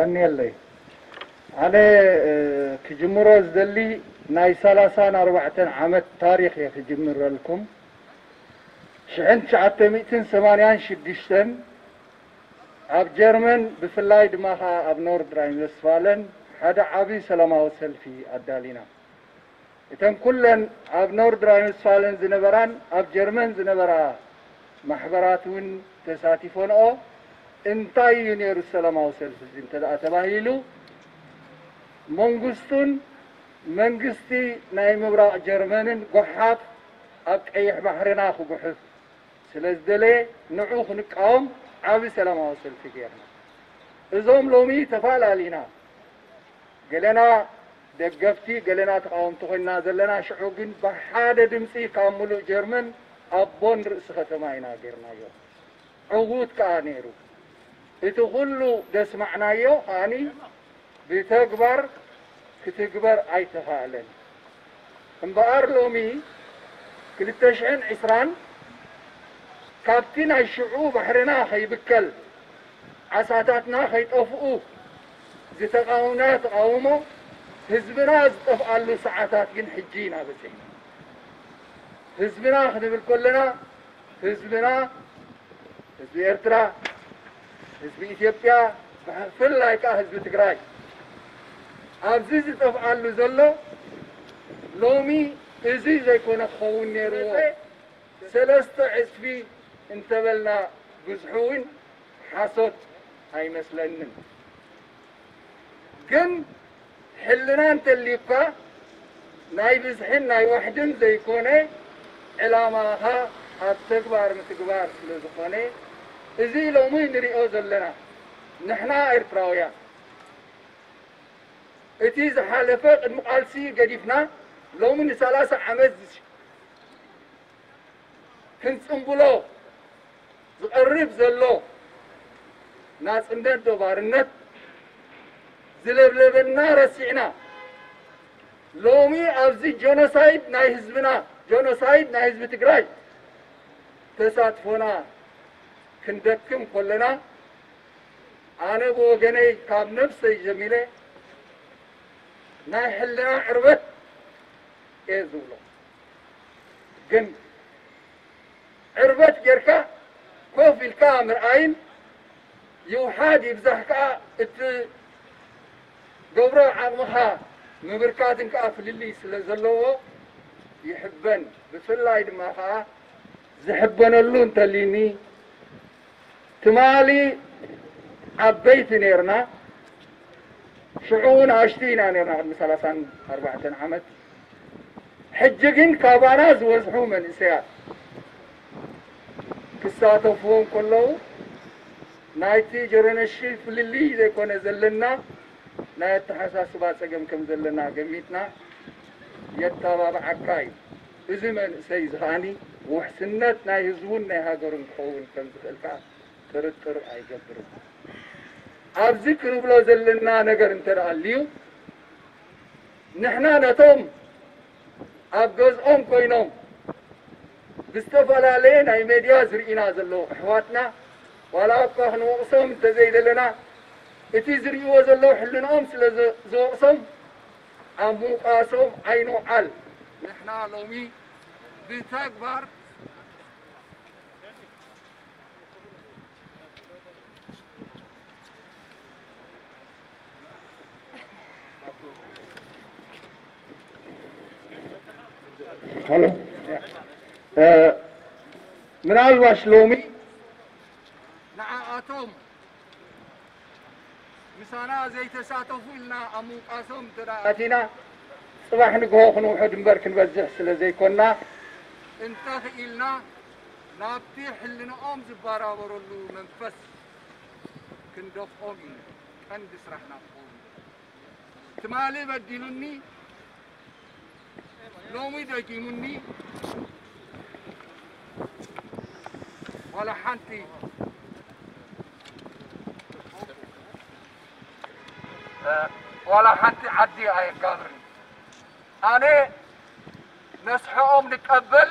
የቐንየለይ። ኣነ ክጅምሮ ዝደሊ ናይ ሰላሳን ኣርባዕተን ዓመት ታሪኽ እየ ክጅምረልኩም። ሽሕን ትሽዓተ ሚእትን ሰማንያን ሽዱሽተን ኣብ ጀርመን፣ ብፍላይ ድማ ኸዓ ኣብ ኖርድ ራይን ዌስትፋለን ሓደ ዓብዪ ሰላማዊ ሰልፊ ኣዳሊና። እተን ኩለን ኣብ ኖርድ ራይን ዌስትፋለን ዝነበራን ኣብ ጀርመን ዝነበራ ማሕበራት እውን ተሳቲፎንኦ። እንታይ እዩ ነይሩ ሰላማዊ ሰልፊ እዚ እንተ ደኣ ተባሂሉ፣ መንግስቱን መንግስቲ ናይ ምብራቕ ጀርመንን ጓሓፍ ኣብ ቀይሕ ባሕርና ክጉሕፍ ስለ ዝደለየ፣ ንዑ ክንቃወም ዓቢ ሰላማዊ ሰልፊ ጌርና። እዞም ሎሚ ተፈላለዩና፣ ገለና ደገፍቲ፣ ገለና ተቓወምቲ ኮይንና ዘለና፣ ሽዑ ግን ብሓደ ድምጺ ካብ ምሉእ ጀርመን ኣብ ቦን ርእሲ ከተማ ኢና ጌርናዮ። ዕዉት ከኣ ነይሩ። እቲ ኩሉ ዘስማዕናዮ ከኣኒ ብተግባር ክትግበር ኣይተኻእለን። እምበኣር ሎሚ ክልተ ሽሕን ዕስራን ካብቲ ናይ ሽዑ ባሕርና ከይብከል፣ ዓሳታትና ከይጠፍኡ ዝተቓወምና ተቓውሞ፣ ህዝብና ዝጠፍኣሉ ሰዓታት ግን ሕጂ ኢና በጺሕና። ህዝብና ክንብል ከለና፣ ህዝብና፣ ህዝቢ ኤርትራ፣ ህዝቢ ኢትዮጵያ፣ ብፍላይ ከኣ ህዝቢ ትግራይ ኣብዚ ዝጠፍኣሉ ዘሎ፣ ሎሚ እዚ ዘይኮነ ክኸውን ነይርዎ። ሰለስተ ዕጽፊ እንተበልና ብዝሑ እውን ሓሶት ኣይመስለንን። ግን ሕልና እንተልዩካ፣ ናይ ብዝሕን ናይ ዋሕድን ዘይኮነ፣ ዕላማኻ ኣብ ተግባር ምትግባር ስለ ዝኾነ፣ እዚ ሎሚ ንሪኦ ዘለና ንሕና ኤርትራውያን፣ እቲ ዝሓለፈ ቅድሚ ቃልሲ ገዲፍና፣ ሎሚ ንሰላሳ ዓመት ክንጽምብሎ ዝቐርብ ዘሎ ናጽነት ዶ ባርነት ዝለብለበና ረሲዕና፣ ሎሚ ኣብዚ ጀኖሳይድ ናይ ህዝብና፣ ጀኖሳይድ ናይ ህዝቢ ትግራይ ተሳትፎና ክንደክም ከለና፣ ኣነ ብወገነይ ካብ ነብሰይ ጀሚረ ናይ ሕልና ዕርበት እየ ዝብሎ። ግን ዕርበት ጌርካ ኮፍ ኢልካ ምርኣይን ይውሓድ ይብዛሕ ከኣ እትገብሮ ዓቕምኻ ምብርካትን ከኣ ፍልልይ ስለ ዘለዎ ይሕበን። ብፍላይ ድማ ከኣ ዝሕበነሉ እንተልዩኒ፣ ትማሊ ዓበይቲ ኔርና፣ ሽዑ እውን ኣሽቲ ኢና ኔርና፣ ቅድሚ ሰላሳን ኣርባዕተን ዓመት። ሕጂ ግን ካባና ዝበዝሑ መንእሰያት ክሳተፍዎ እንከለዉ፣ ናይቲ ጀረነሽል ፍልልይ ዘይኮነ ዘለና፣ ናይ ኣተሓሳስባ ጸገም ከም ዘለና ገሚትና፣ የተባብዓካ እዩ። እዚ መንእሰይ እዚ ከኣኒ ውሕስነት ናይ ህዝቡን ናይ ሃገሩን ክኸውን ከም ዝኽእል ከኣ ጥርጥር ኣይገብርን። ኣብዚ ክንብሎ ዘለና ነገር እንተ ደኣ ኣልዩ፣ ንሕና ነቶም ኣብ ገዝኦም ኮይኖም ብዝተፈላለየ ናይ ሜድያ ዝርእዩና ዘለዉ ኣሕዋትና፣ ዋላ እኳ ክንወቕሶም እንተዘይደለና፣ እቲ ዝርእይዎ ዘለዉ ሕልንኦም ስለ ዝ-፣ ዝወቕሶም፣ ኣብ ምውቃሶም ኣይንውዓል። ንሕና ሎሚ ብተግባር ሃሎ። እ፣ ምናልባሽ ሎሚ ንዓኣቶም ምሳና ዘይተሳተፉ ኢልና ኣብ ምውቃሶም እንተ ደኣ ኣቲና፣ ጽባሕ ንግሆ ክንውሕድ እምበር ክንበዝሕ ስለ ዘይኮንና፣ እንተኽኢልና ናብቲ ሕልንኦም ዝባራበረሉ መንፈስ ክንደፍኦም እዩ ቀንዲ ስራሕና ክኸውን። ትማሊ በዲሉኒ፣ ሎሚ ደጊሙኒ፣ ዋላ ሓንቲ፣ ዋላ ሓንቲ ዓዲ ኣየጋብርን። ኣነ ነስሕኦም ንቀበል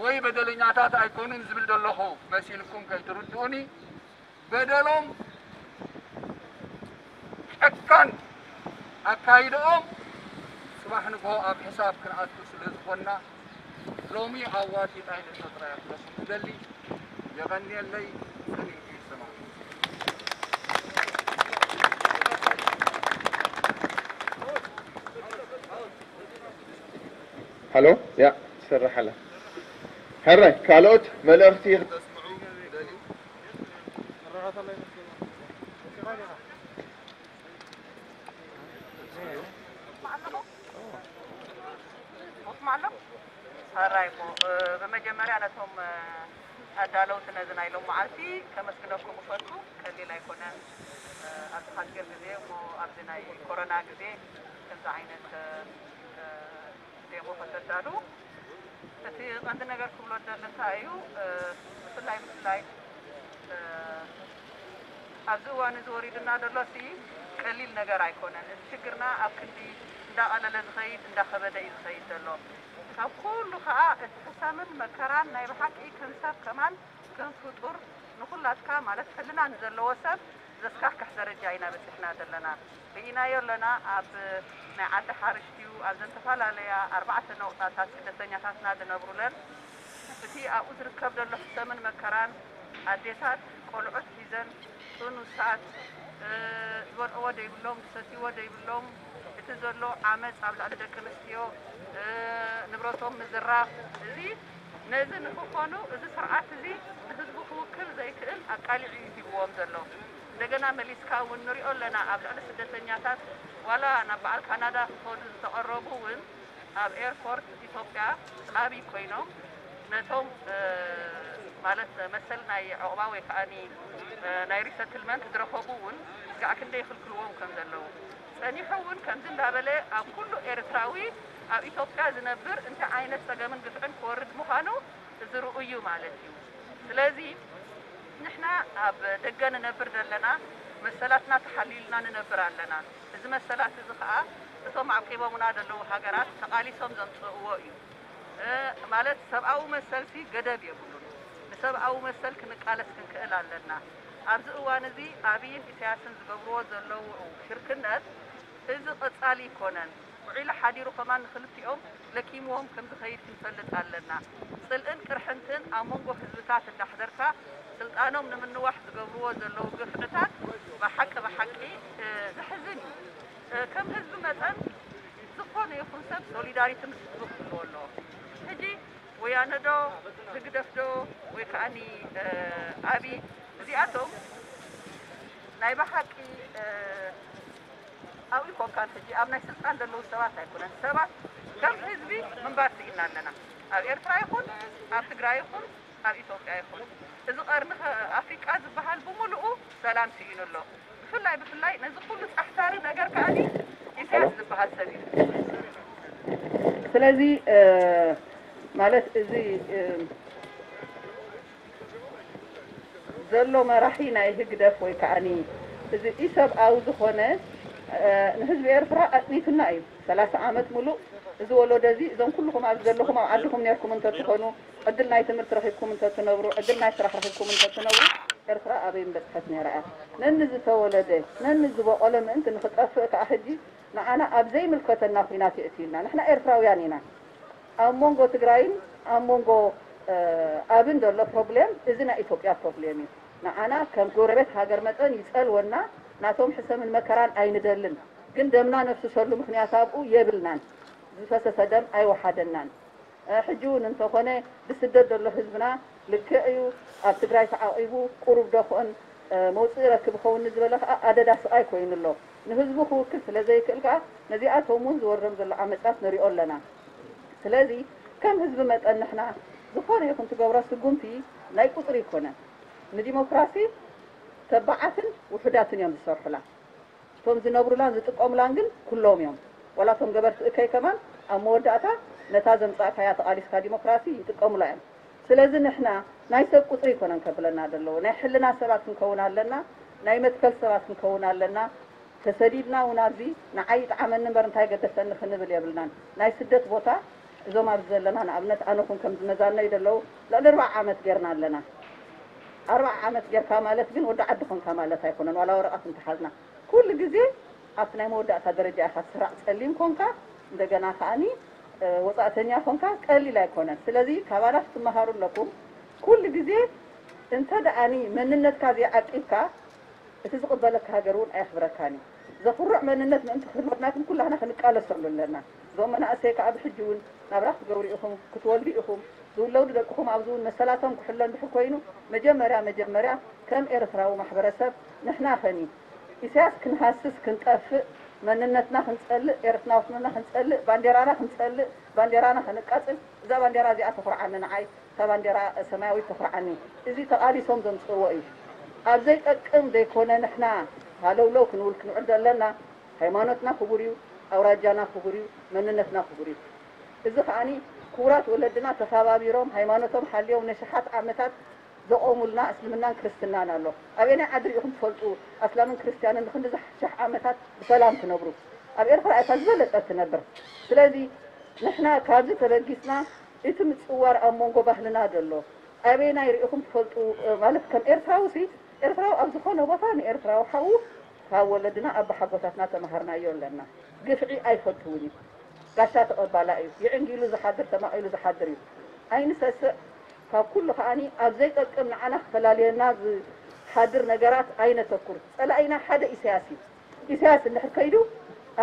ወይ በደለኛታት ኣይኮኑን ዝብል ዘለኹ መሲልኩም ከይትርድኡኒ፣ በደሎም ጨካን ኣካይድኦም ጽባሕ ንግሆ ኣብ ሕሳብ ክንኣቱ ስለ ዝኾንና፣ ሎሚ ኣዋጺ ጣይነ ጥራይ ክብለኩም እደሊ። የቐንየለይ። ጽንዕቲ ይሰማዕ። ሃሎ፣ ያ ትሰርሕ ኣላ። ሕራይ ካልኦት መልእኽቲ ክተስምዑ ደልዩ? ሕራይ እሞ ብመጀመርያ ነቶም ኣዳለውቲ ነዚ ናይ ሎም መዓልቲ ከመስግነኩም እፈቱ። ቀሊል ኣይኮነን። ኣብዚ ሓፂር ግዜ እሞ ኣብዚ ናይ ኮሮና ግዜ ከምዚ ዓይነት ዴሞ ከተዳሉ። እቲ ቀንዲ ነገር ክብሎ ዝደሊ እንታይ እዩ፣ ብፍላይ ብፍላይ ኣብዚ እዋን እዚ ወሪድና ዘሎ ሲ ቀሊል ነገር ኣይኮነን። እዚ ሽግርና ኣብ ክንዲ እንዳቐለለ ዝኸይድ እንዳኸበደ እዩ ዝኸይድ ዘሎ። ካብ ኩሉ ከዓ እቲ ሕሰምን መከራን ናይ ብሓቂ ከም ሰብ ከማን ከም ፍጡር ንኹላትካ ማለት ሕልና ንዘለዎ ሰብ ዘስካሕክሕ ደረጃ ኢና በፂሕና ዘለና። ርኢናዮ ኣለና። ኣብ ናይ ዓዲ ሓርሽ ድዩ ኣብ ዘተፈላለያ ኣርባዕተ ነቑጣታት ስደተኛታትና ዝነብሩለን እቲ ኣብኡ ዝርከብ ዘሎ ሕሰምን መከራን ኣዴታት ቆልዑት ሒዘን ጥኑሳት ዝበልዕዎ ደይብሎም ዝሰትይዎ ደይብሎም እቲ ዘሎ ዓመፅ ኣብ ልዕሊ ደቂ ኣንስትዮ ንብረቶም ምዝራፍ እዚ ነዚ ንክኾኑ እዚ ስርዓት እዚ ንህዝቡ ክውክል ዘይክእል ኣቃሊዑ እዩ ሂብዎም ዘሎ። እንደገና መሊስካ እውን ንሪኦ ኣለና ኣብ ልዕሊ ስደተኛታት ዋላ ናብ በዓል ካናዳ ክኸዱ ዝተቐረቡ እውን ኣብ ኤርፖርት ኢትዮጵያ ፃቢ ኮይኖም ነቶም ማለት መሰል ናይ ዑቕባ ወይ ከዓ ናይ ሪሰትልመንት ዝረኸቡ እውን ጋዕ ክንደይ ይኽልክልዎም ከም ዘለዉ ጸኒሑ እውን ከምዚ እንዳበለ ኣብ ኩሉ ኤርትራዊ ኣብ ኢትዮጵያ ዝነብር እንታይ ዓይነት ጸገምን ግፍዕን ክወርድ ምዃኑ እዚ ርኡይ እዩ ማለት እዩ። ስለዚ ንሕና ኣብ ደገ ንነብር ዘለና መሰላትና ተሓልዩልና ንነብር ኣለና። እዚ መሰላት እዚ ኸኣ እቶም ዓቂቦምና ዘለዉ ሃገራት ተቓሊሶም ዘምጽእዎ እዩ። ማለት ሰብኣዊ መሰልሲ ገደብ የብሉን። ንሰብኣዊ መሰል ክንቃለስ ክንክእል ኣለና። ኣብዚ እዋን እዚ ኣብይን ኢሳያስን ዝገብርዎ ዘለዉ ሽርክነት እዚ ቀጻሊ ይኮነን። ውዒሉ ሓዲሩ ከማን ንክልቲኦም ለኪምዎም ከም ዝኸይድ ክንፈልጥ ኣለና። ጽልእን ቅርሕንትን ኣብ መንጎ ህዝብታት እንዳሕደርካ ስልጣኖም ንምንዋሕ ዝገብርዎ ዘለዉ ግፍዕታት ብሓቂ ብሓቂ ዘሕዝን እዩ። ከም ህዝቢ መጠን ዝኾነ ይኹን ሰብ ሶሊዳሪቲ ምስ ህዝቡ ክህልዎ ኣለዎ። ሕጂ ወያነ ዶ ህግደፍ ዶ ወይ ከዓኒ ኣብይ እዚኣቶም ናይ ብሓቂ ኣብኡ ይኮንካን ሕጂ ኣብ ናይ ስልጣን ዘለዉ ሰባት ኣይኮነን። ሰባት ከም ህዝቢ ምንባር ስኢና ኣለና። ኣብ ኤርትራ ይኹን ኣብ ትግራይ ይኹን ኣብ ኢትዮጵያ ይኹን እዚ ቀርኒ ኣፍሪቃ ዝበሃል ብምሉኡ ሰላም ስኢኑ ኣሎ። ብፍላይ ብፍላይ ነዚ ኩሉ ጻሕታሪ ነገር ከዓኒ ኢሳያስ ዝበሃል ሰብ እዩ። ስለዚ ማለት እዚ ዘሎ መራሒ ናይ ህግደፍ ወይ ከዓኒ እዚ ኢሰብኣዊ ዝኾነ ንህዝቢ ኤርትራ ኣጽኒቱና እዩ። ሰላሳ ዓመት ሙሉእ እዚ ወለዶ እዚ እዞም ኩልኹም ኣብዚ ዘለኹም ኣብ ዓድኹም ነርኩም እንተትኾኑ ዕድል ናይ ትምህርቲ ረኺብኩም እንተትነብሩ ዕድል ናይ ስራሕ ረኺብኩም እንተትነብሩ ኤርትራ ኣበይ ምበጽሐት ነይራ እያ። ነኒ ዝተወለደ ነኒ ዝበቖለ ምእንቲ ንኽጠፍእ ከኣ ሕጂ ንዓና ኣብ ዘይምልከተና ኲናት የእትዩና። ንሕና ኤርትራውያን ኢና። ኣብ መንጎ ትግራይን ኣብ መንጎ ኣብን ዘሎ ፕሮብሌም እዚ ናይ ኢትዮጵያ ፕሮብሌም እዩ። ንዓና ከም ጎረቤት ሃገር መጠን ይጸልወና፣ ናቶም ሕሰምን መከራን ኣይንደልን። ግን ደምና ነፍስሰሉ ምኽንያት ኣብኡ የብልናን። ዝፈሰሰ ደም ኣይወሓደናን። ሕጂ እውን እንተኾነ ብስደት ዘሎ ህዝብና ልክዕ እዩ፣ ኣብ ትግራይ ተዓቒቡ ቁሩብ ዶ ክኦን መውፅኢ ይረክብ ይኸውን ንዝበለ ከዓ ኣደዳ ስቓይ ኮይኑ ኣሎ። ንህዝቡ ክውክል ስለ ዘይክእል ከዓ ነዚኣቶም እውን ዝወርዶም ዘሎ ዓመፃት ንሪኦ ኣለና። ስለዚ ከም ህዝቢ መጠን ንሕና ዝኾነ ይኹን ትገብሮ ስጉምቲ ናይ ቁፅሪ ኣይኮነን። ንዲሞክራሲ ተባዓትን ውሑዳትን እዮም ዝሰርሑላ። እቶም ዝነብሩላን ዝጥቀሙላን ግን ኩሎም እዮም። ዋላ እቶም ገበርቲ እከይ ከማን ኣብ መወዳእታ ነታ ዘምፃእካያ ተቓሊስካ ዲሞክራሲ ይጥቀሙላ እዮም። ስለዚ ንሕና ናይ ሰብ ቁፅሪ ኣይኮነን ከብለና ዘለዎ፣ ናይ ሕልና ሰባት ክንከውን ኣለና፣ ናይ መትከል ሰባት ክንከውን ኣለና። ተሰዲድና እውን ኣብዚ ንዓይ ይጥዓመኒ እምበር እንታይ ገደሰኒ ክንብል የብልናን። ናይ ስደት ቦታ እዞም ኣብዚ ዘለና ንኣብነት ኣነ ኹን ከም ዝመዛነይ ዘለዉ ልዕሊ ኣርባዓ ዓመት ጌርና ኣለና። ኣርባዓ ዓመት ጌርካ ማለት ግን ወዲ ዓዲ ኾንካ ማለት ኣይኮነን። ዋላ ወረቐት እንተሓዝና ኩሉ ግዜ ኣብቲ ናይ መወዳእታ ደረጃ ኢኻ ትስራዕ። ጸሊም ኮንካ፣ እንደገና ከኣኒ ወጻእተኛ ኮንካ ቀሊል ኣይኮነን። ስለዚ ካባና ክትመሃሩ ኣለኩም። ኩሉ ግዜ እንተ ደኣኒ መንነትካ ዘይዓቂብካ፣ እቲ ዝቕበለካ ሃገር እውን ኣየኽብረካን እዩ። ዘኹርዕ መንነት ምእንቲ ክህልወና ግን ኩላህና ክንቃለሰሉ ኣለና። እዞም መናእሰይ ከኣ ብሕጂ እውን ናብራ ክትገብሩ ኢኹም፣ ክትወልዱ ኢኹም። ዝውለዱ ደቅኹም ኣብዚ እውን መሰላቶም ክሕሎ እንድሕር ኮይኑ፣ መጀመርያ መጀመርያ ከም ኤርትራዊ ማሕበረሰብ ንሕና ኸኒ ኢሳያስ ክንሃስስ ክንጠፍእ፣ መንነትና ክንጸልእ፣ ኤርትራውነትና ክንጸልእ፣ ባንዴራና ክንጸልእ፣ ባንዴራና ከነቃጽል፣ እዛ ባንዴራ እዚኣ ተኹርዓኒ ንዓይ። እታ ባንዴራ ሰማያዊት ተኹርዓኒ። እዚ ተቓሊሶም ዘምጽእዎ እዩ። ኣብ ዘይጠቅም ዘይኮነ ንሕና ሃለውለው ክንብል ክንውዕል ዘለና። ሃይማኖትና ክቡር እዩ፣ ኣውራጃና ክቡር እዩ፣ መንነትና ክቡር እዩ። እዚ ከኣኒ ክቡራት ወለድና ተኸባቢሮም ሃይማኖቶም ሓልዮም ነሽሓት ዓመታት ዘቖሙልና እስልምናን ክርስትናን ኣሎ። ኣበየናይ ዓዲ ርኢኹም ትፈልጡ ኣስላምን ክርስትያንን ንክንድዚ ሸሕ ዓመታት ብሰላም ክነብሩ? ኣብ ኤርትራ እታ ዝበለጸት ትነብር። ስለዚ ንሕና ካብዚ ተበጊስና እቲ ምጽዋር ኣብ መንጎ ባህልና ዘሎ ኣበየናይ ርኢኹም ትፈልጡ? ማለት ከም ኤርትራዊ ሲ ኤርትራዊ ኣብ ዝኾነ ቦታ ንኤርትራዊ ሓዉ ካብ ወለድና ኣባሓጎታትና ተማሃርናዮ ኣለና። ግፍዒ ኣይፈትውን እዩ። ጋሻ ተቐባላ እዩ። ይዕንጊሉ ዝሓድር ተማቒሉ ዝሓድር እዩ። ኣይንሰስዕ። ካብ ኩሉ ከኣኒ ኣብ ዘይጠቅም ንዓና ክፈላልየና ዝሓድር ነገራት ኣይነተኩር። ጸላኢና ሓደ ኢሳያስ እዩ። ኢሳያስ እንድሕር ከይዱ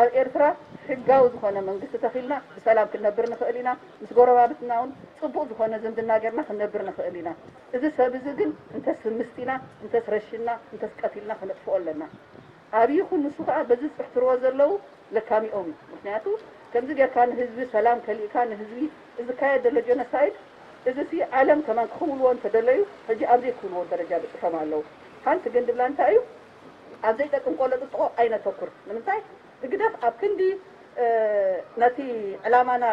ኣብ ኤርትራ ሕጋዊ ዝኾነ መንግስቲ ተኺልና ብሰላም ክንነብር ንኽእል ኢና። ምስ ጎረባብትና እውን ጽቡቕ ዝኾነ ዝምድና ጌርና ክንነብር ንኽእል ኢና። እዚ ሰብ እዚ ግን እንተስ ምስጢና፣ እንተስ ረሽና፣ እንተስ ቀቲልና ከነጥፍኦ ኣለና። ኣብይ ይኹን ንሱ ከኣ በዚ ዝጽሕትርዎ ዘለዉ ለካሚኦም እዩ። ምኽንያቱ ከምዚ ጌርካ ንህዝቢ ሰላም ከሊእካ ንህዝቢ እዚ ዝካየድ ዘሎ ጀኖሳይድ እዚ ሲ ዓለም ከማን ክኽውልዎ እንተደለዩ ሕጂ ኣብ ዘይክብልዎ ደረጃ በጺሖም ኣለዉ። ሓንቲ ግን ድብላ እንታይ እዩ? ኣብ ዘይጠቅም ቆሎ ጥጥቆ ኣይነተኩር። ንምንታይ? ህግደፍ ኣብ ክንዲ ነቲ ዕላማና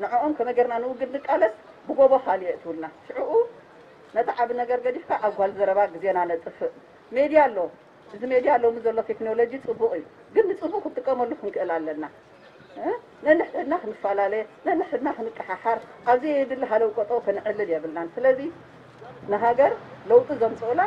ንዕኦም ከመይ ጌርና ንውግድ ንቃለስ ብጎቦ ካልእ የእትውልና። ሽዕኡ ነቲ ዓቢ ነገር ገዲፍካ ኣብ ጓል ዘረባ ግዜና ነጥፍእ። ሜድያ ኣሎ። እዚ ሜድያ ሎሚ ዘሎ ቴክኖሎጂ ጽቡቕ እዩ፣ ግን ንጽቡቕ ክንጥቀመሉ ክንክእል ኣለና። ነንሕድሕድና ክንፈላለ፣ ነንሕድሕድና ክንቀሓሓር፣ ኣብ ዘየድሊ ሃለው ቀጠው ከነዕልል የብልናን። ስለዚ ንሃገር ለውጢ ዘምጽኡላ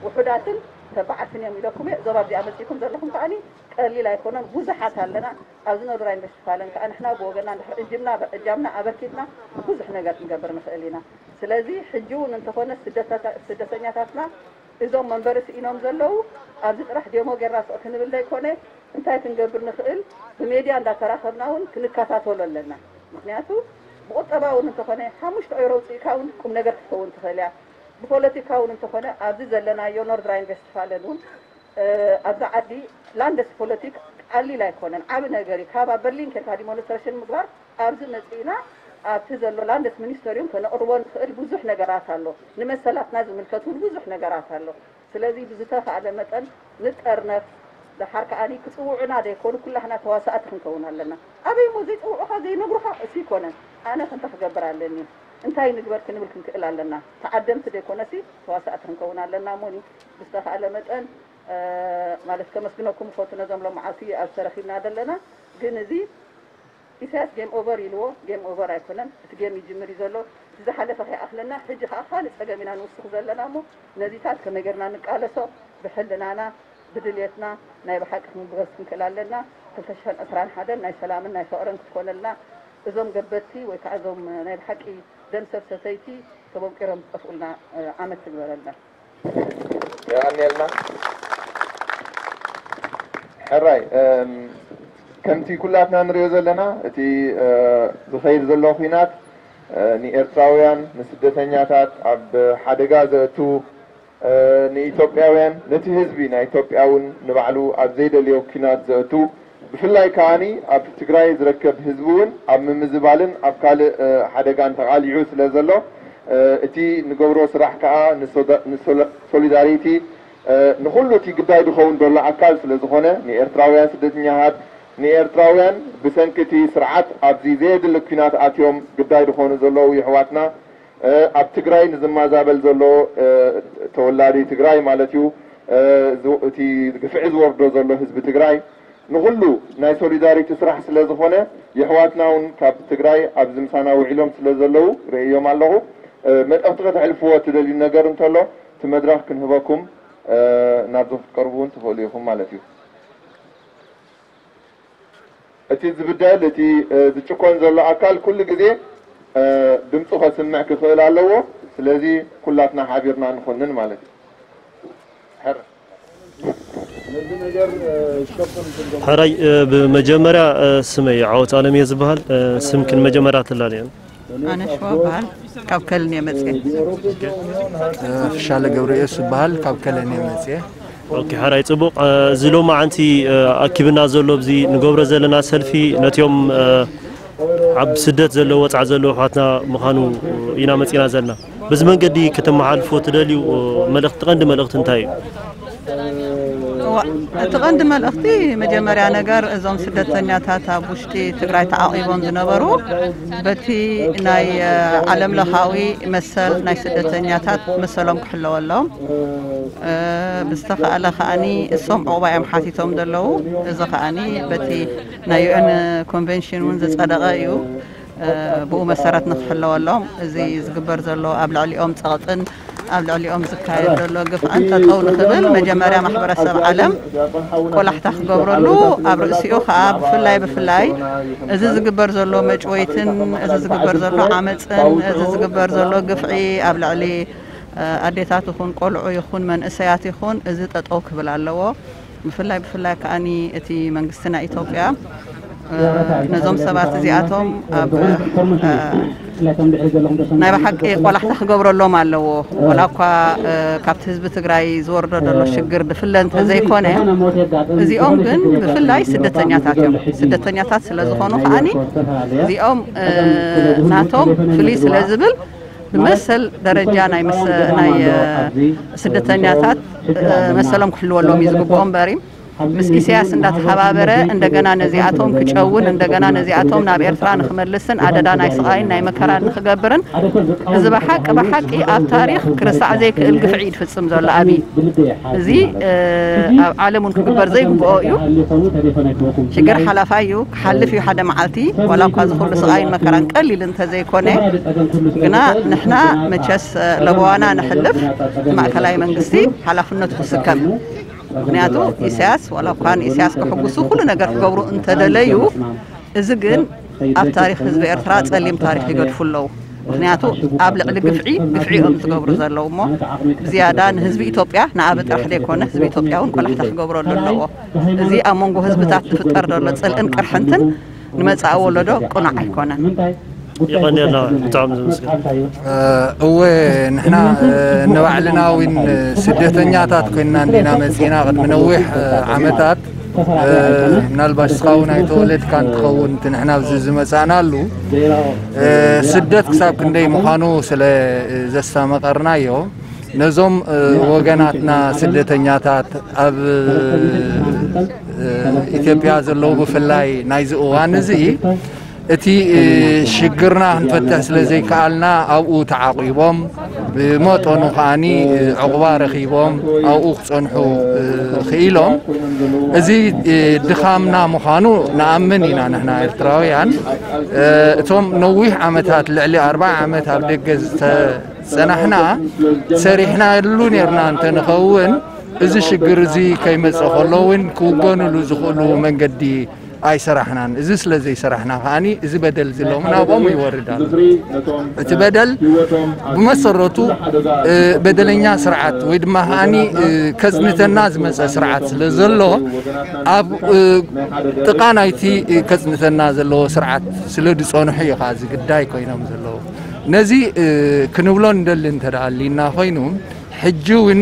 ውሑዳትን ተባዓትን እዮም ኢለኩም እየ። እዞም ኣብዚኣ መጺእኩም ዘለኹም ከኣኒ ቀሊል ኣይኮነን፣ ብዙሓት ኣለና። ኣብዚ ኖርድራይን ዌስትፋለን ከኣ ንሕና ብወገንና እንድሕር እጅምና እጃምና ኣበርኪትና ብዙሕ ነገር ክንገብር ንኽእል ኢና። ስለዚ ሕጂ እውን እንተኾነ ስደተኛታትና እዞም መንበሪ ስኢኖም ዘለዉ ኣብዚ ጥራሕ ዴሞ ጌርና ስቕ ክንብል ዘይኮነ እንታይ ክንገብር ንኽእል ብሜድያ እንዳተራኸብና እውን ክንከታተሎ ኣለና። ምኽንያቱ ብቁጠባ እውን እንተኾነ ሓሙሽተ ኦይሮ ውፅእካ እውን ቁም ነገር ክትከውን ትኽእል እያ። ብፖለቲካ እውን እንተኾነ ኣብዚ ዘለናዮ ኖርድራይን ዌስትፋለን እውን ኣብዛ ዓዲ ላንደስ ፖለቲክ ቀሊል ኣይኮነን፣ ዓቢ ነገር እዩ። ካብ ኣብ በርሊን ኬድካ ዲሞንስትሬሽን ምግባር ኣብዚ መጺእና ኣብቲ ዘሎ ላንደስ ሚኒስተርዩም ከነቕርቦ ንኽእል ብዙሕ ነገራት ኣሎ። ንመሰላትና ዝምልከት እውን ብዙሕ ነገራት ኣሎ። ስለዚ ብዝተኻእለ መጠን ንጠርነፍ፣ ደሓር ከኣኒ ክጽውዑና ዘይኮኑ ኩላህና ተዋሳእቲ ክንከውን ኣለና። ኣበይ እሞ ዘይጽውዑኻ ዘይነግሩኻ እሱ ይኮነን። ኣነ ክንታይ ክገብር ኣለኒ? እንታይ ንግበር ክንብል ክንክእል ኣለና። ተዓደምቲ ዘይኮነሲ ተዋሳእቲ ክንከውን ኣለና። እሞኒ ብዝተኻእለ መጠን ማለት ከመስግነኩም እፈቱ ነዞም ሎማዓልቲ ኣብዚ ተረኺብና ዘለና። ግን እዚ ኢሳያስ ጌም ኦቨር ኢልዎ፣ ጌም ኦቨር ኣይኮነን። እቲ ጌም ይጅምር እዩ ዘሎ። እቲ ዝሓለፈ ከይኣኽለና ሕጂ ከዓ ካልእ ጸገም ኢና ንውስኽ ዘለና እሞ ነዚታት ከመይ ጌርና ንቃለሶ ብሕልናና ብድልየትና ናይ ብሓቂ ክንብገስ ክንክእል ኣለና። ክልተ ሽሕን ዕስራን ሓደን ናይ ሰላምን ናይ ፍቕርን ክትኮነልና እዞም ገበቲ ወይ ከዓ እዞም ናይ ብሓቂ ደም ሰብ ሰተይቲ ተቦቂሮም ዝጠፍኡልና ዓመት ትግበረልና። የቐንየልና። ሕራይ ከምቲ ኩላትና ንሪኦ ዘለና እቲ ዝኸይድ ዘሎ ኲናት ንኤርትራውያን ንስደተኛታት ኣብ ሓደጋ ዘእቱ ንኢትዮጵያውያን ነቲ ህዝቢ ናይ ኢትዮጵያ እውን ንባዕሉ ኣብ ዘይደልዮ ኲናት ዘእቱ ብፍላይ ከኣኒ ኣብ ትግራይ ዝረከብ ህዝቢ እውን ኣብ ምምዝባልን ኣብ ካልእ ሓደጋን ተቓሊዑ ስለ ዘሎ እቲ ንገብሮ ስራሕ ከኣ ንሶሊዳሪቲ ንኹሉ እቲ ግዳይ ዝኸውን ዘሎ ኣካል ስለ ዝኾነ ንኤርትራውያን ስደተኛታት ንኤርትራውያን ብሰንኪ እቲ ስርዓት ኣብዚ ዘየድሊ ኲናት ኣትዮም ግዳይ ዝኾኑ ዘለዉ የሕዋትና ኣብ ትግራይ ንዝማዛበል ዘሎ ተወላዲ ትግራይ ማለት እዩ እቲ ግፍዒ ዝወርዶ ዘሎ ህዝቢ ትግራይ ንኹሉ ናይ ሶሊዳሪቲ ስራሕ ስለ ዝኾነ የሕዋትና እውን ካብ ትግራይ ኣብዚ ምሳና ውዒሎም ስለ ዘለዉ ርእዮም ኣለኹ። መልእኽቲ ከተሕልፍዎ እትደልዩ ነገር እንተሎ እቲ መድረኽ ክንህበኩም ናብዚ ክትቀርቡ እውን ትኽእሉ ኢኹም ማለት እዩ። እቲ ዝብደል፣ እቲ ዝጭቆን ዘሎ ኣካል ኩሉ ግዜ ድምፁ ከስምዕ ክኽእል ኣለዎ። ስለዚ ኩላትና ሓቢርና ንኹንን ማለት እዩ። ሕራይ፣ ብመጀመርያ ስመይ ዓወት ኣለም እየ ዝበሃል። ስምክን መጀመርያ ትላለየን። ኣነ ሽዋ በሃል፣ ካብ ከልን እየ መፅየ። ፍሻለ ገብረየስ ዝበሃል፣ ካብ ከለን እየ መፅየ። ኦኬ፣ ሕራይ ጽቡቕ። እዚ ሎማዓንቲ ኣኪብና ዘሎ፣ ኣብዚ ንገብሮ ዘለና ሰልፊ ነቲኦም ኣብ ስደት ዘለዉ፣ ወጻዕ ዘለዉ ኣሕዋትና ምዃኑ ኢና መጺና ዘለና። በዚ መንገዲ ከተመሓልፎ ትደልዩ መልእኽቲ፣ ቀንዲ መልእኽቲ እንታይ እዩ? እቲ ቀንዲ መልእኽቲ፣ መጀመርያ ነገር እዞም ስደተኛታት ኣብ ውሽጢ ትግራይ ተዓቂቦም ዝነበሩ በቲ ናይ ዓለም ለኻዊ መሰል ናይ ስደተኛታት መሰሎም ክሕለወሎም ብዝተኻእለ ከኣኒ እሶም ዕቑባ እዮም ሓቲቶም ዘለዉ። እዚ ከኣኒ በቲ ናይ ዩኤን ኮንቨንሽን እውን ዝፀደቐ እዩ። ብኡ መሰረት ንክሕለወሎም እዚ ዝግበር ዘሎ ኣብ ልዕሊኦም ፀቕጥን ኣብ ልዕሊኦም ዝካየድ ዘሎ ግፍዕን ጠጠው ንክብል መጀመርያ ማሕበረሰብ ዓለም ቆላሕታ ክገብረሉ ኣብ ርእሲኡ ከዓ ብፍላይ ብፍላይ እዚ ዝግበር ዘሎ መጭወይትን እዚ ዝግበር ዘሎ ዓመፅን እዚ ዝግበር ዘሎ ግፍዒ ኣብ ልዕሊ ኣዴታት ይኹን ቆልዑ ይኹን መንእሰያት ይኹን እዚ ጠጠው ክብል ኣለዎ። ብፍላይ ብፍላይ ከኣኒ እቲ መንግስቲ ናይ ኢትዮጵያ ነዞም ሰባት እዚኣቶም ኣብ ናይ ብሓቂ ቆላሕታ ክገብረሎም ኣለዎ። ወላ እኳ ካብቲ ህዝቢ ትግራይ ዝወርዶ ዘሎ ሽግር ድፍለ እንተዘይኮነ እዚኦም ግን ብፍላይ ስደተኛታት እዮም። ስደተኛታት ስለዝኾኑ ከኣኒ እዚኦም ናቶም ፍልይ ስለዝብል ብመሰል ደረጃ ናይ ናይ ስደተኛታት መሰሎም ክሕልወሎም እዩ ዝግብኦ እምበሪ ምስ ኢሳያስ እንዳተሓባበረ እንደገና ነዚኣቶም ክጨውን እንደገና ነዚኣቶም ናብ ኤርትራ ንክመልስን ኣደዳ ናይ ስቓይን ናይ መከራን ንክገብርን እዚ ብሓቂ ብሓቂ ኣብ ታሪኽ ክርሳዕ ዘይክእል ግፍዒ እዩ ዝፍጽም ዘሎ ኣብይ። እዚ ኣብ ዓለም እውን ክግበር ዘይግብኦ እዩ። ሽግር ሓላፋይ እዩ፣ ክሓልፍ እዩ ሓደ መዓልቲ። ዋላ እኳ እዚ ኩሉ ስቓይን መከራን ቀሊል እንተዘይኮነ ግና ንሕና መቸስ ለበዋና ንሕልፍ ማእከላይ መንግስቲ ሓላፍነቱ ክስከም። ምክንያቱ ኢሳያስ ዋላ እኳ ንኢሳያስ ክሕጉሱ ኩሉ ነገር ክገብሩ እንተደለዩ እዚ ግን ኣብ ታሪክ ህዝቢ ኤርትራ ጸሊም ታሪክ ይገድፉ ኣለዉ። ምክንያቱ ኣብ ልዕሊ ግፍዒ ግፍዒ እዮም ዝገብሩ ዘለዉ እሞ ብዝያዳ ንህዝቢ ኢትዮጵያ ንኣብ ጥራሕ ዘይኮነ ህዝቢ ኢትዮጵያ እውን ቆላሕታ ክገብረሉ ኣለዎ። እዚ ኣብ መንጎ ህዝብታት ዝፍጠር ዘሎ ጽልእን ቅርሕንትን ንመጻኢ ወለዶ ቅኑዕ ኣይኮነን። ይቐንየልና፣ ብጣዕሚ ዘመስግን። እወ ንሕና ንባዕልና እውን ስደተኛታት ኮይንና እንዲና መፂና ቅድሚ ነዊሕ ዓመታት ምናልባሽ እስኻ እውን ኣይተወለድካን ትኸውን እቲ ንሕና ኣብዚ ዝመፃእናሉ ስደት ክሳብ ክንደይ ምዃኑ ስለ ዘስተመቐርናዮ ነዞም ወገናትና ስደተኛታት ኣብ ኢትዮጵያ ዘለዉ ብፍላይ ናይዚ እዋን እዚ እቲ ሽግርና ክንፈትሕ ስለ ዘይከኣልና ኣብኡ ተዓቂቦም ብመጠኑ ከዓኒ ዕቑባ ረኺቦም ኣብኡ ክጸንሑ ክኢሎም እዚ ድኻምና ምዃኑ ንኣምን ኢና ንሕና ኤርትራውያን እቶም ነዊሕ ዓመታት ልዕሊ ኣርባዓ ዓመት ኣብ ደገ ዝተጸናሕና ሰሪሕናሉ ኔርና እንተንኸውን እዚ ሽግር እዚ ከይመጽእ ከሎ እውን ክውገንሉ ዝኽእሉ መንገዲ ኣይሰራሕናን። እዚ ስለ ዘይሰራሕና ከዓኒ እዚ በደል እዚ ሎሚ ናብኦም ይወርድ ኣሎ። እቲ በደል ብመሰረቱ በደለኛ ስርዓት ወይ ድማ ከዓኒ ከጽንተና ዝመጸ ስርዓት ስለ ዘሎ ኣብ ጥቓ ናይቲ ከጽንተና ዘለዎ ስርዓት ስለ ዝጸንሑ እዩ ከዓ እዚ ግዳይ ኮይኖም ዘለዉ። ነዚ ክንብሎ ንደሊ እንተ ደኣ ኣሊና ኮይኑ ሕጂ እውን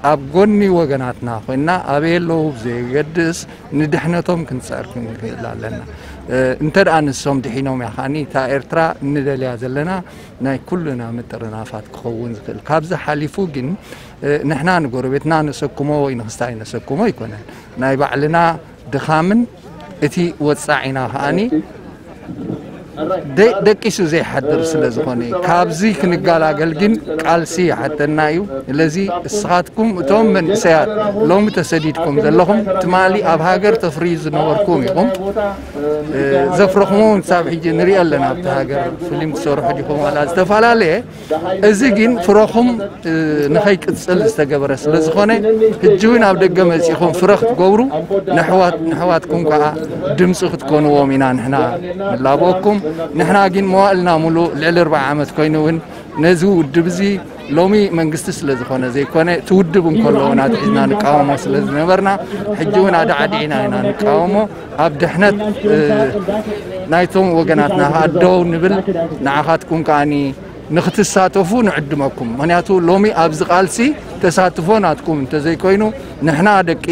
ኣብ ጎኒ ወገናትና ኮይንና ኣበይ ኣለዉ ብዘየገድስ ንድሕነቶም ክንፅዕር ክንክእል ኣለና። እንተ ደኣ ንሶም ድሒኖም እያ ከዓኒ እታ ኤርትራ እንደልያ ዘለና ናይ ኩልና ምጥርናፋት ክኸውን ዝኽእል። ካብዚ ሓሊፉ ግን ንሕና ንጎረቤትና ነሰክሞ ወይ ንክስታይ ነሰክሞ ኣይኮነን። ናይ ባዕልና ድኻምን እቲ ወጻዒና ከዓኒ ደ- ደቂሱ ዘይሓድር ስለ ዝኾነ እዩ። ካብዚ ክንገላገል ግን ቃልሲ ይሓተና እዩ። ስለዚ እስኻትኩም እቶም መንእሰያት ሎሚ ተሰዲድኩም ዘለኹም ትማሊ ኣብ ሃገር ተፍርዩ ዝነበርኩም ኢኹም። እ፣ ዘፍረኹም እውን ክሳብ ሕጂ ንሪኦ ኣለና። ኣብቲ ሃገር ፊልም ትሰርሑ ዲኹም ዋላ ዝተፈላለየ፣ እዚ ግን ፍረኹም እ፣ ንኸይቅጽል ዝተገበረ ስለ ዝኾነ፣ ሕጂ እውን ኣብ ደገ መጺኹም ፍረ ክትገብሩ፣ ንሕዋት- ንሕዋትኩም ከኣ ድምጺ ክትኮንዎም ኢና ንሕና ንላበወኩም። ንሕና ግን መዋእልና ሙሉእ ልዕሊ ኣርብዓ ዓመት ኮይኑ እውን ነዚ ውድብ እዚ ሎሚ መንግስቲ ስለ ዝኾነ ዘይኮነ፣ እቲ ውድብ እንከሎ እውን ኣትሒዝና ንቃወሞ ስለ ዝነበርና፣ ሕጂ እውን ኣዳዕዲዕና ኢና ንቃወሞ። ኣብ ድሕነት እ፣ ናይቶም ወገናትና ከኣ ደው ንብል። ንዓኻትኩም ከኣኒ ንክትሳተፉ ንዕድመኩም። ምኽንያቱ ሎሚ ኣብዚ ቃልሲ ተሳትፎ ናትኩም እንተዘይኮይኑ፣ ንሕና ደቂ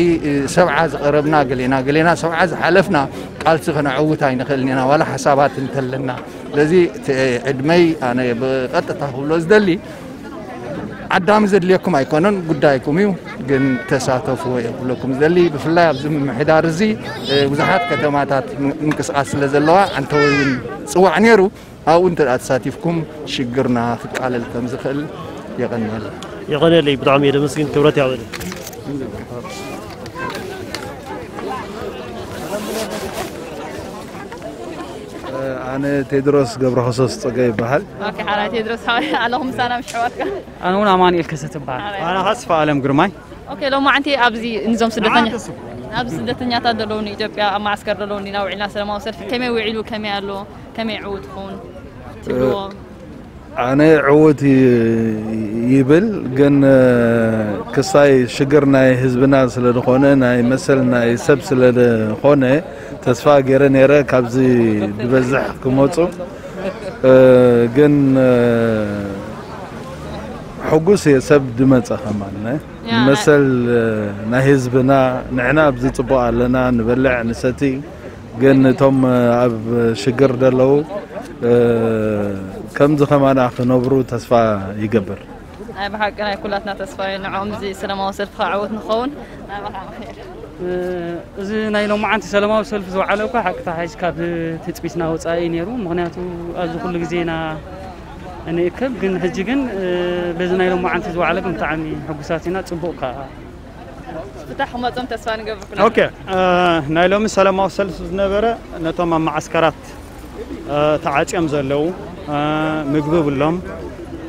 ሰብዓ ዝቐረብና ገሌና፣ ገሌና ሰብዓ ዝሓለፍና ቃልሲ ከነዕውት ኣይንኽእልን ኢና፣ ዋላ ሓሳባት እንተለና። ስለዚ እቲ ዕድመይ ኣነ ብቐጥታ ክብሎ ዝደሊ፣ ዓዳሚ ዘድልየኩም ኣይኮነን፣ ጉዳይኩም እዩ። ግን ተሳተፍዎ እየ ክብለኩም ዝደሊ። ብፍላይ ኣብዚ ምምሕዳር እዚ፣ እ፣ ብዙሓት ከተማታት ም- ምንቅስቃስ ስለ ዘለዋ፣ ዓንተወይ እውን ጽዋዕ ነይሩ። ኣብኡ እንተ ደኣ ተሳቲፍኩም ሽግርና ክቃለል ከም ዝኽእል የቐንየልና። የቐንየለይ፣ ብጣዕሚ እየ ደመስግን፣ ክብረት ያበለ። ኣነ ቴድሮስ ገብረክርስቶስ ጸጋይ ይበሃል። ኦኬ፣ ሓራይ ቴድሮስ፣ ሓራይ ኣለኹም ምሳና ምሽ ኣሕዋትካ? ኣነ እውን ኣማኑኤል ከሰተ ይበሃል። ኣነ ኸዓ ስፋ ኣለም ግርማይ። ኦኬ፣ ሎማዓንቲ ኣብዚ ንዞም ስደተኛ- ኣብዚ ስደተኛታት ዘለዉ ንኢትዮጵያ ኣብ ማዓስከር ዘለዉ እንዲና ውዒልና ሰላማዊ ሰልፊ ከመይ ውዒሉ፣ ከመይ ኣሎ፣ ከመይ ዕዉት ይኸውን ትብልዎ? ኣነ ዕዉት ይ- ይብል፣ ግን ክሳይ ሽግር ናይ ህዝብና ስለ ዝኾነ፣ ናይ መሰል ናይ ሰብ ስለ ዝኾነ፣ ተስፋ ገይረ ነይረ ካብዚ ዝበዝሕ ክመፁ። ግን ሕጉስ እየ ሰብ ድመፀ ከማን። ያ፣ መሰል ናይ ህዝብና፣ ንሕና ኣብዚ ጽቡቕ ኣለና፣ ንበልዕ ንሰቲ፣ ግን እቶም ኣብ ሽግር ደለዉ ከምዚ ከማና ክነብሩ ተስፋ ይገብር። ናይ ብሓቂ ናይ ኩላትና ተስፋ እዩ። ንዕኦም እዚ ሰላማዊ ሰልፊ ከዓ ዕውት ንኸውን። ናይ ብሓቂ። እ፣ እዚ ናይ ሎማዓንቲ ሰላማዊ ሰልፊ ዝወዓለ እኳ ሓቅታ ሓይሽ ካብ ትጽቢትና ወጻኢ እዩ ነይሩ። ምኽንያቱ ኣብዚ ኩሉ ግዜ ኢና እንእከብ፣ ግን ሕጂ ግን፣ እ፣ በዚ ናይ ሎማዓንቲ ዝወዓለ ግን ብጣዕሚ ሕጉሳት ኢና። ጽቡቕ ከኣ። ፍታሕ ክመጾም ተስፋ ንገብር ኩልና። ኦኬ፣ እ፣ ናይ ሎሚ ሰላማዊ ሰልፊ ዝነበረ ነቶም ኣብ መዓስከራት እ፣ ተዓጽዮም ዘለዉ፣ እ፣ ምግቢ የብሎም፣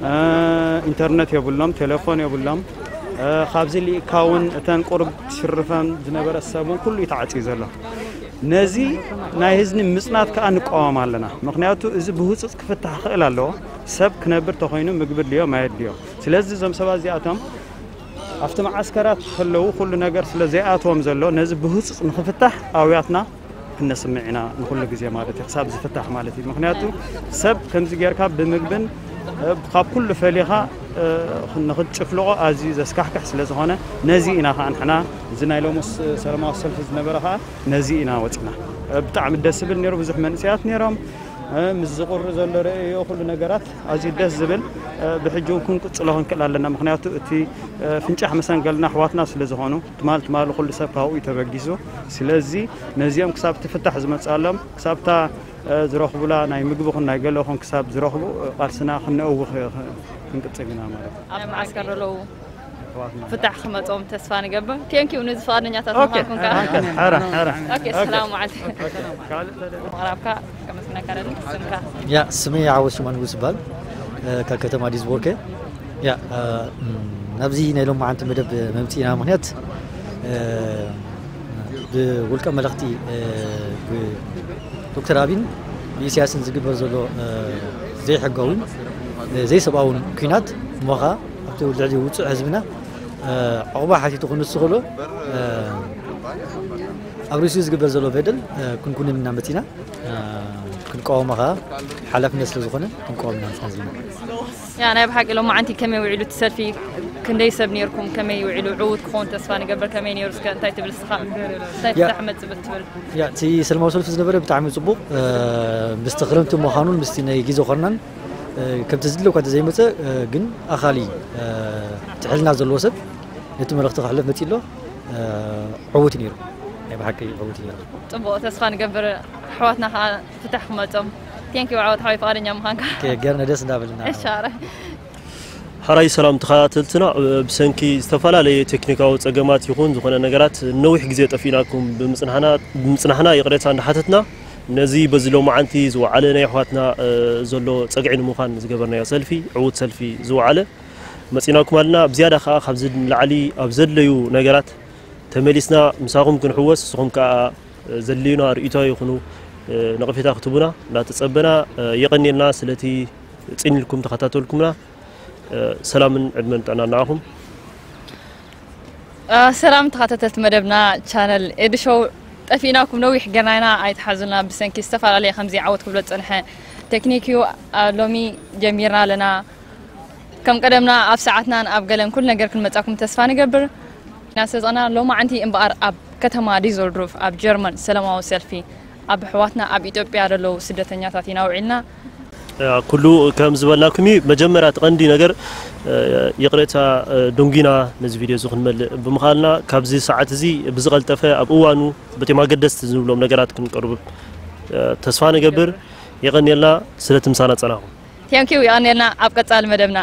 እ፣ ኢንተርነት የብሎም፣ ቴሌፎን የብሎም። እ፣ ካብዚ ልኢካ እውን እተን ቁሩብ ትሽርፈን ዝነበረ ሰብ እውን ኩሉ እዩ ተዓጽዩ ዘሎ። ነዚ ናይ ህዝቢ ምጽናት ከኣ ንቃወም ኣለና። ምኽንያቱ እዚ ብህጹጽ ክፍታሕ ክኽእል ኣለዎ። ሰብ ክነብር ተኾይኑ ምግቢ ድልዮ፣ ማይ ድልዮ። ስለዚ እዞም ሰባት እዚኣቶም ኣብቲ መዓስከራት ከለዉ ኩሉ ነገር ስለ ዘይኣትዎም ዘሎ፣ ነዚ ብህጹጽ ንኽፍታሕ ኣውያትና ክነስምዕ ኢና ንኹሉ ግዜ ማለት እዩ፣ ክሳብ ዝፍታሕ ማለት እዩ። ምኽንያቱ ሰብ ከምዚ ጌርካ ብምግብን፣ እ፣ ካብ ኩሉ ፈሊኻ፣ እ፣ ንኽትጭፍልቖ ኣዝዩ ዘስካሕክሕ ስለ ዝኾነ፣ ነዚ ኢና ኸዓ ንሕና፣ እዚ ናይ ሎሙስ ሰላማዊ ሰልፊ ዝነበረ ኸዓ ነዚ ኢና ወጺና። እ፣ ብጣዕሚ ደስ ዝብል ነይሩ፣ ብዙሕ መንእሰያት ነይሮም፣ እ፣ ምስ ዝቕሪ ዘሎ ርእዮ፣ ኩሉ ነገራት ኣዝዩ ደስ ዝብል፣ እ፣ ብሕጂ እውን ክንቅጽሎ ክንክእል ኣለና። ምኽንያቱ እቲ፣ እ፣ ፍንጫሕ መሰንገልና ኣሕዋትና ስለ ዝኾኑ፣ ትማል ትማል ኩሉ ሰብ ካብኡ እዩ ተበጊሱ። ስለዚ ነዚኦም ክሳብ ትፍታሕ ዝመጽኣሎም፣ ክሳብታ፣ እ፣ ዝረኽቡላ ናይ ምግቢ ኹን ናይ ገለ ኹን ክሳብ ዝረኽቡ፣ እ፣ ቃልስና ክንነእውኽ፣ እ፣ ክንቅጽል ኢና ማለት እዩ። ኣብ መዓስከር ዘለዉ ኣሕዋትና። ፍታሕ ክመጾም ተስፋ ንገብር። ቴንክ ዩ ነዚ ፍቓደኛታት ኦኬ፣ ምዃንኩም ከኣ። ኦኬ፣ ሕራ፣ ሕራ። ኦኬ፣ ኦኬ። ሰላም መዓልቲ። ኦኬ፣ ካልእ ተለ- ምቕራብካ ከመስግነካ ደሊ ስምካ። ያ፣ ስመይ ዓወት ሽማ ንጉስ ይበሃል። እ፣ ካብ ከተማ ዲዝቦርኬ። ያ፣ እ፣ ም፣ ናብዚ ናይ ሎማዓንቲ መደብ መምጽኢና ምኽንያት፣ እ፣ ብውልቀ መለኽቲ፣ እ፣ ብዶክተር ኣቢን ብኢሳያስን ዝግበር ዘሎ፣ እ፣ ዘይሕጋውን፣ እ፣ ዘይሰብኣውን ኲናት እሞ ኸኣ ኣብቲ ልዕሊ ውጹዕ ህዝብና፣ እ፣ ዕቑባ ሓቲቱ ክንሱ ከሎ፣ እ፣ ኣብ ርእሲኡ ዝግበር ዘሎ በደል፣ እ፣ ክንኩንን ኢና መጺና። እ፣ ክንቃወሞ ኸኣ ሓላፍነት ስለ ዝኾነ ክንቃወም ኢና መጺና ዘለና። ያ፣ ናይ ብሓቂ ሎማዓንቲ ከመይ ውዒሉ እቲ ሰልፊ? ክንደይ ሰብ ኔርኩም? ከመይ ውዒሉ? ዕዉት ክኸውን ተስፋ ንገብር። ከመይ ኔሩ? እስከ እንታይ ትብል እስኻ? እንታይ ያ። ፍታሕ መጽእ ትብል? ያ፣ እቲ ሰላማዊ ሰልፊ ዝነበረ ብጣዕሚ ጽቡቕ፣ እ፣ ምስቲ ክረምቲ ምዃኑን ምስቲ ናይ ግዜ ኮርናን፣ እ፣ ከምቲ ዝድለ እኳ እንተዘይመጸ፣ እ፣ ግን ኣኻሊ፣ እ፣ ትሕልና ዘለዎ ሰብ ነቲ መልእኽቲ ከሕልፍ መጺኡ ኣሎ። እ፣ ዕዉት እዩ ነይሩ። ናይ ብሓቂ ዕዉት እዩ ነይሩ። ጽቡቕ፣ ተስፋ ንገብር። ኣሕዋትና ከኣ ፍታሕ ክመጾም Thank you ዓወት ሓወይ ፍቓደኛ ምዃንካ። ገርነ ደስ እንዳበልና። እሻረ ሓራይ ሰላም ተኸታተልትና፣ ብሰንኪ ዝተፈላለየ ቴክኒካዊ ጸገማት ይኹን ዝኾነ ነገራት ነዊሕ ግዜ ጠፊእናኩም ብምጽናሕና ይቕሬታ እንዳሓተትና፣ ነዚ በዚ ሎማዓንቲ ዝወዓለ ናይ ኣሕዋትና ዘሎ ጸግዒ ንምዃን ዝገበርናዮ ሰልፊ ዕዉት ሰልፊ ዝወዓለ መጺናኩም ኣለና። ብዝያዳ ከኣ ካብዚ ንላዕሊ ኣብ ዘድለዩ ነገራት ተመሊስና ምሳኹም ክንሕወስ፣ ንስኹም ከኣ ዘድልዩና ርእይቶ ይኹኑ ነቐፌታ ክትቡና እንዳተጸበና፣ የቐንየልና ስለቲ ጽን ኢልኩም ተኸታተልኩምና። ሰላምን ዕድመን ጥዕናን ንዓኹም። ሰላም ተኸታተልቲ መደብና ቻነል ኤዱ ሾው፣ ጠፊእናኩም ነዊሕ ገርናይና ኣይትሓዙና። ብሰንኪ ዝተፈላለየ ከምዚ ዓወት ክብሎ ዝጸንሐ ቴክኒክ እዩ። ሎሚ ጀሚርና ኣለና። ከም ቀደምና ኣብ ሰዓትናን ኣብ ገለን ኩሉ ነገር ክንመጻኩም ተስፋ ንገብር። ኢና ስለ ዝኾና ሎማዓንቲ እምበኣር ኣብ ከተማ ዲዞልድሩፍ ኣብ ጀርመን ሰላማዊ ሰልፊ ኣብ ኣሕዋትና ኣብ ኢትዮጵያ ዘለዉ ስደተኛታት ኢና ውዒልና። ኩሉ ከም ዝበልናኩም እዩ። መጀመርያ እቲ ቀንዲ ነገር ይቕሬታ ደንጉና ነዚ ቪድዮ እዚ ክንመልእ ብምኻልና፣ ካብዚ ሰዓት እዚ ብዝቐልጠፈ ኣብ እዋኑ በቶም ኣገደስቲ ዝንብሎም ነገራት ክንቀርቡ ተስፋ ንገብር። የቐንየልና ስለቲ ምሳና ጸናኹም። Thank you። የቐንየልና። ኣብ ቀጻሊ መደብና